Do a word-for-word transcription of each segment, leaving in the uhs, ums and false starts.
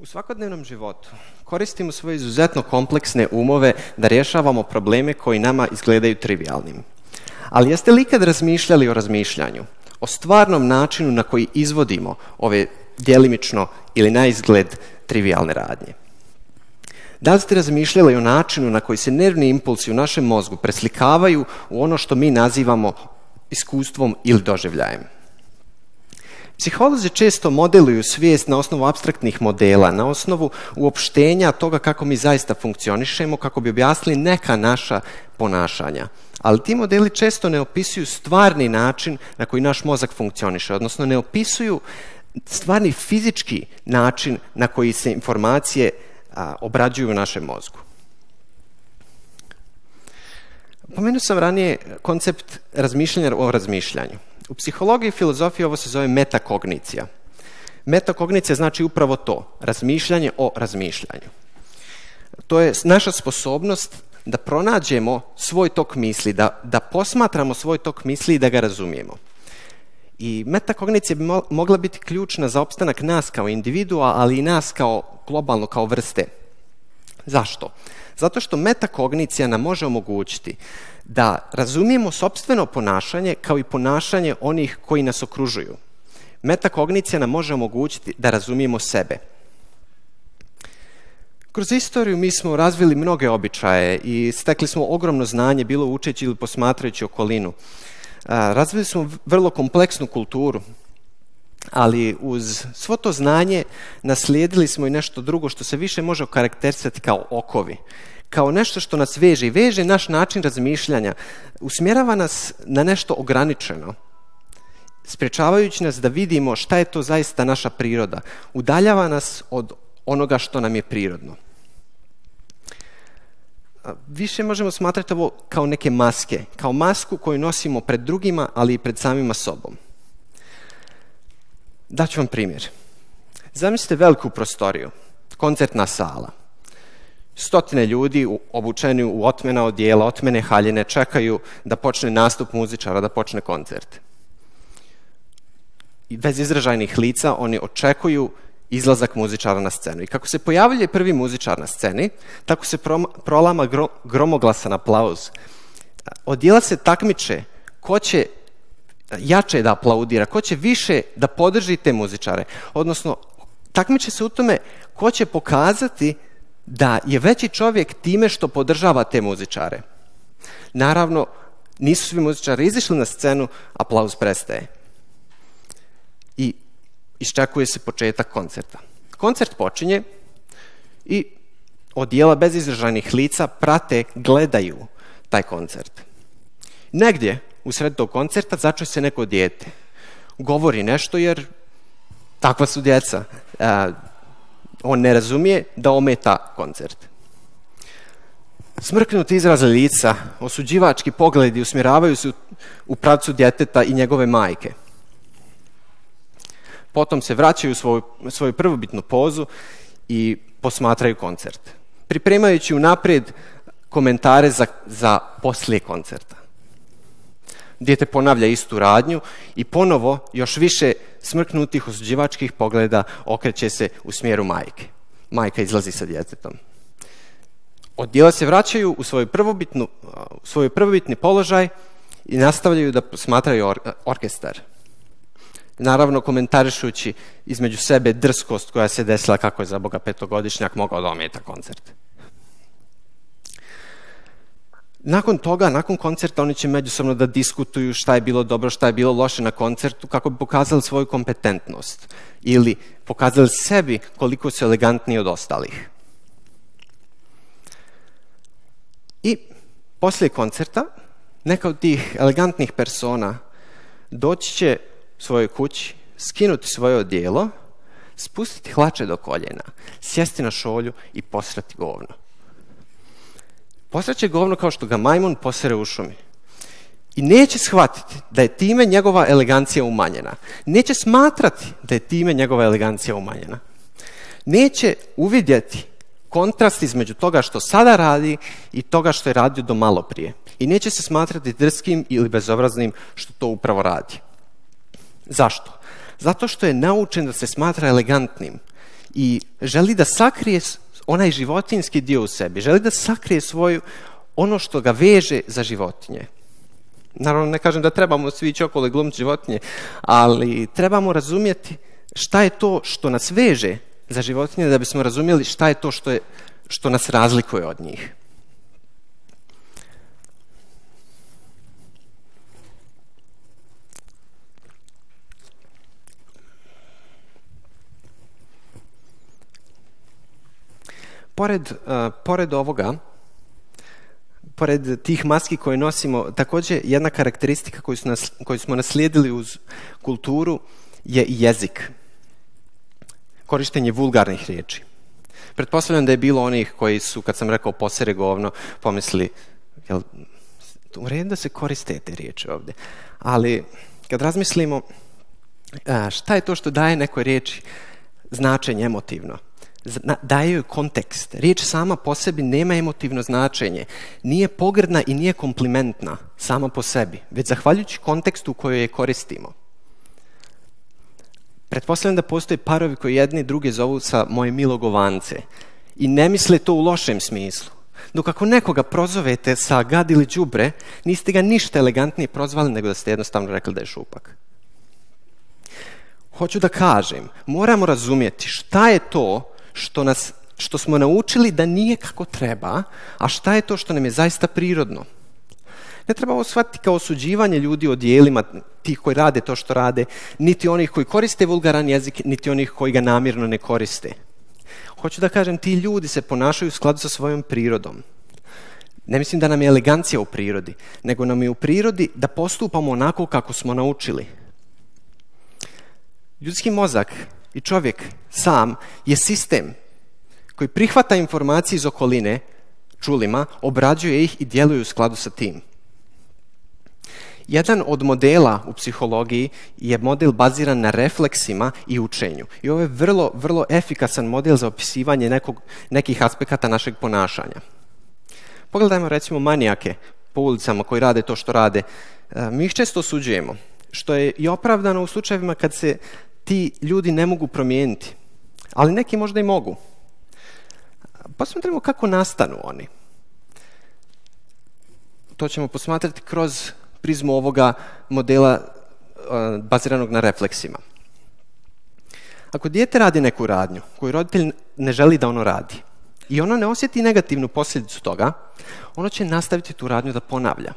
U svakodnevnom životu koristimo svoje izuzetno kompleksne umove da rješavamo probleme koji nama izgledaju trivialnim. Ali jeste li ikad razmišljali o razmišljanju, o stvarnom načinu na koji izvodimo ove djelimično ili na izgled trivialne radnje? Da li ste razmišljali o načinu na koji se nervni impulsi u našem mozgu preslikavaju u ono što mi nazivamo iskustvom ili doživljajem? Psiholozi često modeluju svijest na osnovu apstraktnih modela, na osnovu uopštenja toga kako mi zaista funkcionišemo, kako bi objasnili neka naša ponašanja. Ali ti modeli često ne opisuju stvarni način na koji naš mozak funkcioniše, odnosno ne opisuju stvarni fizički način na koji se informacije a, obrađuju u našem mozgu. Pomenuo sam ranije koncept razmišljanja o razmišljanju. U psihologiji i filozofiji ovo se zove metakognicija. Metakognicija znači upravo to, razmišljanje o razmišljanju. To je naša sposobnost da pronađemo svoj tok misli, da, da posmatramo svoj tok misli i da ga razumijemo. I metakognicija bi mo- mogla biti ključna za opstanak nas kao individua, ali i nas kao globalno, kao vrste. Zašto? Zato što metakognicija nam može omogućiti da razumijemo sopstveno ponašanje kao i ponašanje onih koji nas okružuju. Metakognicija nam može omogućiti da razumijemo sebe. Kroz istoriju mi smo razvili mnoge običaje i stekli smo ogromno znanje, bilo učeći ili posmatrajući okolinu. Razvili smo vrlo kompleksnu kulturu, ali uz svo to znanje naslijedili smo i nešto drugo što se više može okarakterisati kao okovi, kao nešto što nas veže i veže naš način razmišljanja, usmjerava nas na nešto ograničeno, sprječavajući nas da vidimo šta je to zaista naša priroda, udaljava nas od onoga što nam je prirodno. Više možemo smatrati ovo kao neke maske, kao masku koju nosimo pred drugima, ali i pred samima sobom. Daću vam primjer. Zamislite veliku prostoriju, koncertna sala. Stotine ljudi obučeni u otmena odijela, otmene haljine, čekaju da počne nastup muzičara, da počne koncert. I bez izražajnih lica oni očekuju izlazak muzičara na scenu. I kako se pojavljuje prvi muzičar na sceni, tako se prolama gromoglasan aplauz. Odijela se takmiče ko će jače da aplaudira, ko će više da podrži te muzičare. Odnosno, takmiče se u tome ko će pokazati da je veći čovjek time što podržava te muzičare. Naravno, nisu svi muzičari izišli na scenu, aplauz prestaje. I iščekuje se početak koncerta. Koncert počinje i odijela bez izražajnih lica prate, gledaju taj koncert. Negdje u sred tog koncerta začuje se neko dijete. Govori nešto jer takva su djeca. E, on ne razumije da ometa koncert. Smrknuti izraze lica, osuđivački pogledi usmjeravaju se u, u pravcu djeteta i njegove majke. Potom se vraćaju u svoju, svoju prvobitnu pozu i posmatraju koncert, pripremajući unaprijed komentare za, za poslije koncerta. Dijete ponavlja istu radnju i ponovo još više smrknutih osuđivačkih pogleda okreće se u smjeru majke. Majka izlazi sa djetetom. Odijela se vraćaju u svoj prvobitnu, u svoj prvobitni položaj i nastavljaju da posmatraju or, orkestar. Naravno, komentarišući između sebe drskost koja se desila kako je za Boga petogodišnjak mogao da ometa koncert. Nakon toga, nakon koncerta, oni će međusobno da diskutuju šta je bilo dobro, šta je bilo loše na koncertu, kako bi pokazali svoju kompetentnost ili pokazali sebi koliko su elegantniji od ostalih. I poslije koncerta, neka od tih elegantnih persona doći će svojoj kući, skinuti svoje odijelo, spustiti hlače do koljena, sjesti na šolju i posrati govno. Posrat će govno kao što ga majmun posere u šumi. I neće shvatiti da je time njegova elegancija umanjena. Neće smatrati da je time njegova elegancija umanjena. Neće uvidjeti kontrast između toga što sada radi i toga što je radio do malo prije. I neće se smatrati drskim ili bezobraznim što to upravo radi. Zašto? Zato što je naučen da se smatra elegantnim i želi da sakrije onaj životinjski dio u sebi, želi da sakrije svoju, ono što ga veže za životinje. Naravno, ne kažem da trebamo svi ići okolo i glumiti životinje, ali trebamo razumjeti šta je to što nas veže za životinje da bismo razumjeli šta je to što, je, što nas razlikuje od njih. Pored, uh, pored ovoga, pored tih maski koje nosimo, također jedna karakteristika koju, su nas, koju smo naslijedili uz kulturu je jezik. Korištenje vulgarnih riječi. Pretpostavljam da je bilo onih koji su, kad sam rekao posere govno, pomisli, jel, u redu da se koriste te riječi ovdje. Ali kad razmislimo šta je to što daje nekoj riječi značenje emotivno, daje joj kontekst. Riječ sama po sebi nema emotivno značenje. Nije pogrdna i nije komplimentna sama po sebi, već zahvaljujući kontekstu u kojoj je koristimo. Pretpostavljam da postoje parovi koji jedni druge zovu sa moje milo govance i ne misle to u lošem smislu. Dok ako nekoga prozovete sa gad ili đubre, niste ga ništa elegantnije prozvali nego da ste jednostavno rekli da je šupak. Hoću da kažem, moramo razumjeti šta je to što, nas, što smo naučili da nije kako treba, a šta je to što nam je zaista prirodno. Ne treba ovo shvatiti kao osuđivanje ljudi o dijelima tih koji rade to što rade, niti onih koji koriste vulgaran jezik, niti onih koji ga namjerno ne koriste. Hoću da kažem, ti ljudi se ponašaju u skladu sa svojom prirodom. Ne mislim da nam je elegancija u prirodi, nego nam je u prirodi da postupamo onako kako smo naučili. Ljudski mozak i čovjek sam je sistem koji prihvata informacije iz okoline, čulima, obrađuje ih i djeluje u skladu sa tim. Jedan od modela u psihologiji je model baziran na refleksima i učenju. I ovo je vrlo, vrlo efikasan model za opisivanje nekog, nekih aspekata našeg ponašanja. Pogledajmo recimo manijake po ulicama koji rade to što rade. Mi ih često osuđujemo, što je i opravdano u slučajevima kad se ti ljudi ne mogu promijeniti. Ali neki možda i mogu. Posmatrimo kako nastanu oni. To ćemo posmatrati kroz prizmu ovoga modela uh, baziranog na refleksima. Ako dijete radi neku radnju koju roditelj ne želi da ono radi i ono ne osjeti negativnu posljedicu toga, ono će nastaviti tu radnju da ponavlja.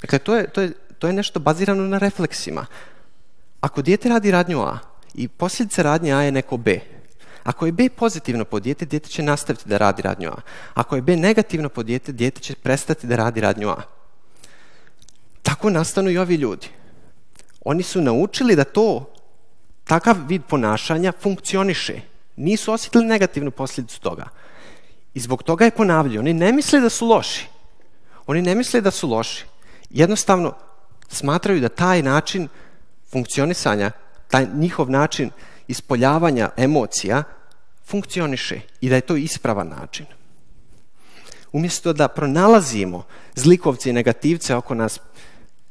Dakle, to je, to je, to je nešto bazirano na refleksima. Ako dijete radi radnju A i posljedica radnje A je neko B, ako je B pozitivno po dijete, dijete će nastaviti da radi radnju A. Ako je B negativno po dijete, dijete će prestati da radi radnju A. Tako nastanu i ovi ljudi. Oni su naučili da to, takav vid ponašanja funkcioniše. Nisu osjetili negativnu posljedicu toga. I zbog toga je ponavljaju. Oni ne misle da su loši. Oni ne misle da su loši. Jednostavno smatraju da taj način funkcionisanja, taj njihov način ispoljavanja emocija funkcioniše i da je to ispravan način. Umjesto da pronalazimo zlikovce i negativce oko nas,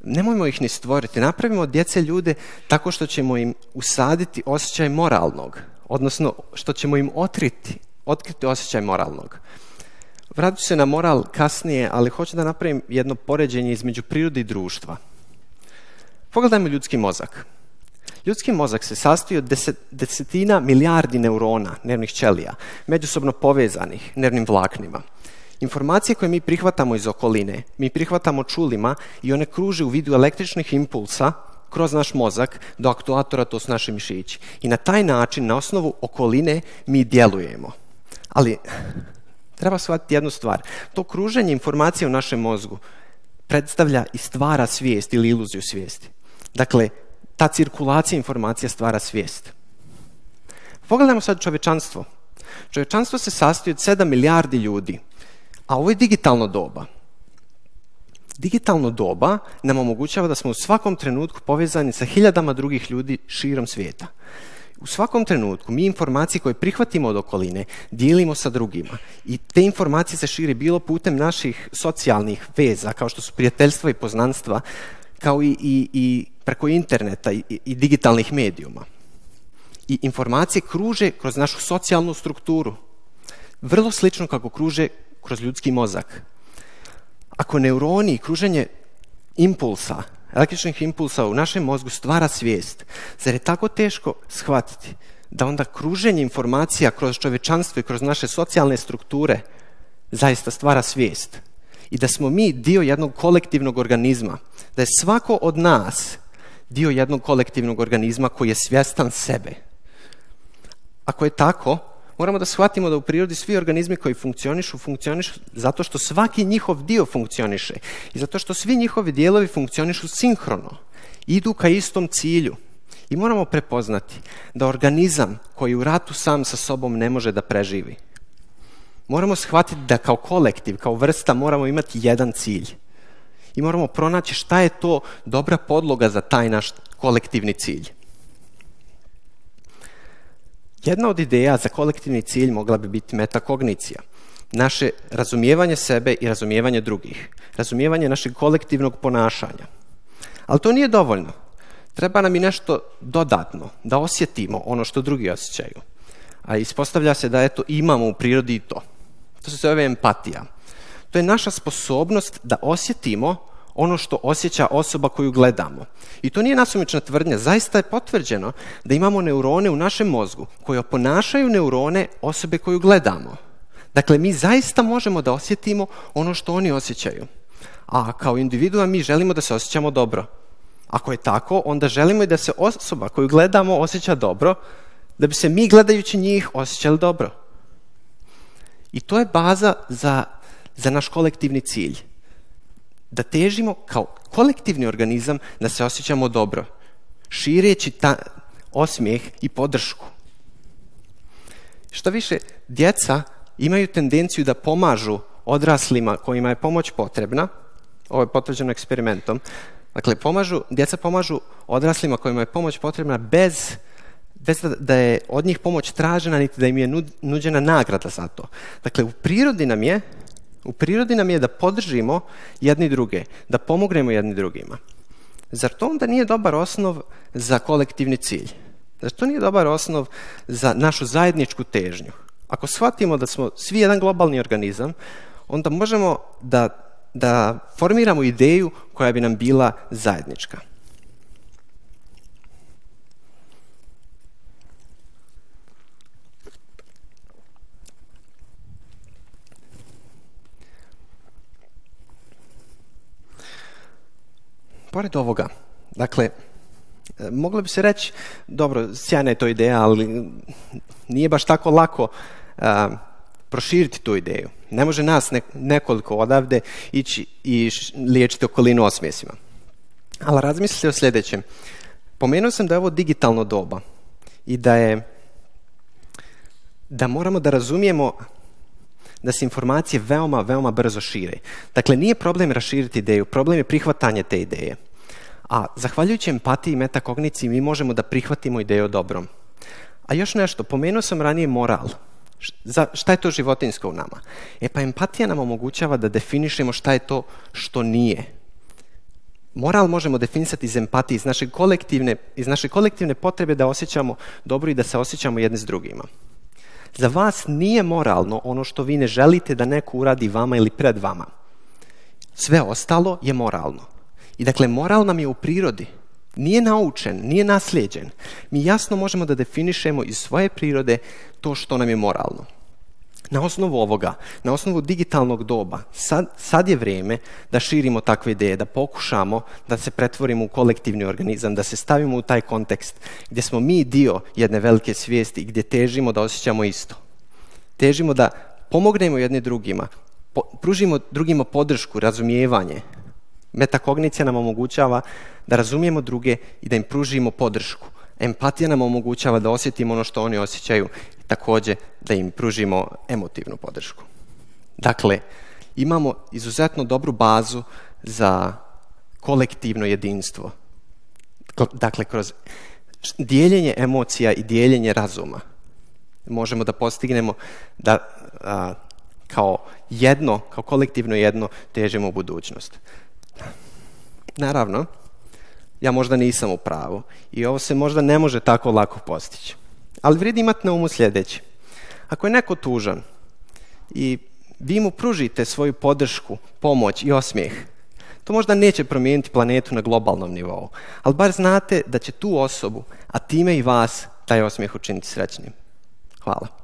nemojmo ih ni stvoriti. Napravimo od djece ljude tako što ćemo im usaditi osjećaj moralnog, odnosno što ćemo im otkriti, otkriti osjećaj moralnog. Vratit ću se na moral kasnije, ali hoću da napravim jedno poređenje između prirode i društva. Pogledajmo ljudski mozak. Ljudski mozak se sastoji od deset, desetina milijardi neurona, nervnih ćelija, međusobno povezanih nervnim vlaknima. Informacije koje mi prihvatamo iz okoline, mi prihvatamo čulima i one kruže u vidu električnih impulsa kroz naš mozak do aktuatora, to su naši mišići. I na taj način, na osnovu okoline, mi djelujemo. Ali treba shvatiti jednu stvar. To kruženje informacija u našem mozgu predstavlja i stvara svijest ili iluziju svijesti. Dakle, ta cirkulacija informacija stvara svijest. Pogledajmo sad čovječanstvo. Čovječanstvo se sastoji od sedam milijardi ljudi, a ovo je digitalno doba. Digitalno doba nam omogućava da smo u svakom trenutku povezani sa hiljadama drugih ljudi širom svijeta. U svakom trenutku mi informacije koje prihvatimo od okoline dijelimo sa drugima i te informacije se šire bilo putem naših socijalnih veza, kao što su prijateljstva i poznanstva, kao i, i, i preko interneta i, i digitalnih medijuma. i informacije kruže kroz našu socijalnu strukturu. Vrlo slično kako kruže kroz ljudski mozak. Ako neuroni i kruženje impulsa, električnih impulsa u našem mozgu stvara svijest, zar je tako teško shvatiti da onda kruženje informacija kroz čovječanstvo i kroz naše socijalne strukture zaista stvara svijest i da smo mi dio jednog kolektivnog organizma, da je svako od nas dio jednog kolektivnog organizma koji je svjestan sebe. Ako je tako, moramo da shvatimo da u prirodi svi organizmi koji funkcionišu, funkcionišu zato što svaki njihov dio funkcioniše i zato što svi njihovi dijelovi funkcionišu sinhrono, idu ka istom cilju. I moramo prepoznati da organizam koji u ratu sam sa sobom ne može da preživi. Moramo shvatiti da kao kolektiv, kao vrsta moramo imati jedan cilj. I moramo pronaći šta je to dobra podloga za taj naš kolektivni cilj. Jedna od ideja za kolektivni cilj mogla bi biti metakognicija. Naše razumijevanje sebe i razumijevanje drugih. Razumijevanje našeg kolektivnog ponašanja. Ali to nije dovoljno. Treba nam i nešto dodatno, da osjetimo ono što drugi osjećaju. A ispostavlja se da eto, imamo u prirodi i to. To se zove empatija. To je naša sposobnost da osjetimo ono što osjeća osoba koju gledamo. I to nije nasumična tvrdnja, zaista je potvrđeno da imamo neurone u našem mozgu koji oponašaju neurone osobe koju gledamo. Dakle, mi zaista možemo da osjetimo ono što oni osjećaju. A kao individua mi želimo da se osjećamo dobro. Ako je tako, onda želimo i da se osoba koju gledamo osjeća dobro, da bi se mi gledajući njih osjećali dobro. I to je baza za, za naš kolektivni cilj. Da težimo kao kolektivni organizam da se osjećamo dobro, šireći ta osmijeh i podršku. Što više, djeca imaju tendenciju da pomažu odraslima kojima je pomoć potrebna, ovo je potvrđeno eksperimentom, dakle, pomažu, djeca pomažu odraslima kojima je pomoć potrebna bez, bez da, da je od njih pomoć tražena, niti da im je nuđena nagrada za to. Dakle, u prirodi nam je U prirodi nam je da podržimo jedni druge, da pomognemo jedni drugima. Zar to onda nije dobar osnov za kolektivni cilj? Zar to nije dobar osnov za našu zajedničku težnju? Ako shvatimo da smo svi jedan globalni organizam, onda možemo da, da formiramo ideju koja bi nam bila zajednička. Pored ovoga, dakle, moglo bi se reći, dobro, sjajna je to ideja, ali nije baš tako lako a, proširiti tu ideju. Ne može nas ne, nekoliko odavde ići i liječiti okolinu osmijesima. Ali razmislite o sljedećem. Pomenuo sam da je ovo digitalno doba i da je da moramo da razumijemo da se informacije veoma, veoma brzo šire. Dakle, nije problem raširiti ideju, problem je prihvatanje te ideje. A zahvaljujući empatiji i metakogniciji mi možemo da prihvatimo ideju o dobrom. A još nešto, pomenuo sam ranije moral. Šta je to životinjsko u nama? E pa empatija nam omogućava da definišemo šta je to što nije. Moral možemo definisati iz empatije, iz naše kolektivne, iz naše kolektivne potrebe da osjećamo dobro i da se osjećamo jedni s drugima. Za vas nije moralno ono što vi ne želite da neko uradi vama ili pred vama. Sve ostalo je moralno. I dakle, moral nam je u prirodi. Nije naučen, nije naslijeđen. Mi jasno možemo da definišemo iz svoje prirode to što nam je moralno. Na osnovu ovoga, na osnovu digitalnog doba, sad, sad je vrijeme da širimo takve ideje, da pokušamo da se pretvorimo u kolektivni organizam, da se stavimo u taj kontekst gdje smo mi dio jedne velike svijesti i gdje težimo da osjećamo isto. Težimo da pomognemo jedni drugima, po, pružimo drugima podršku, razumijevanje. Metakognicija nam omogućava da razumijemo druge i da im pružimo podršku. Empatija nam omogućava da osjetimo ono što oni osjećaju i također da im pružimo emotivnu podršku. Dakle, imamo izuzetno dobru bazu za kolektivno jedinstvo. Dakle, kroz dijeljenje emocija i dijeljenje razuma možemo da postignemo da a, kao jedno, kao kolektivno jedno težimo u budućnost. Naravno, ja možda nisam u pravu i ovo se možda ne može tako lako postići. Ali vrijedi imati na umu sljedeći. Ako je neko tužan i vi mu pružite svoju podršku, pomoć i osmijeh, to možda neće promijeniti planetu na globalnom nivou, ali bar znate da će tu osobu, a time i vas, taj osmijeh učiniti srećnim. Hvala.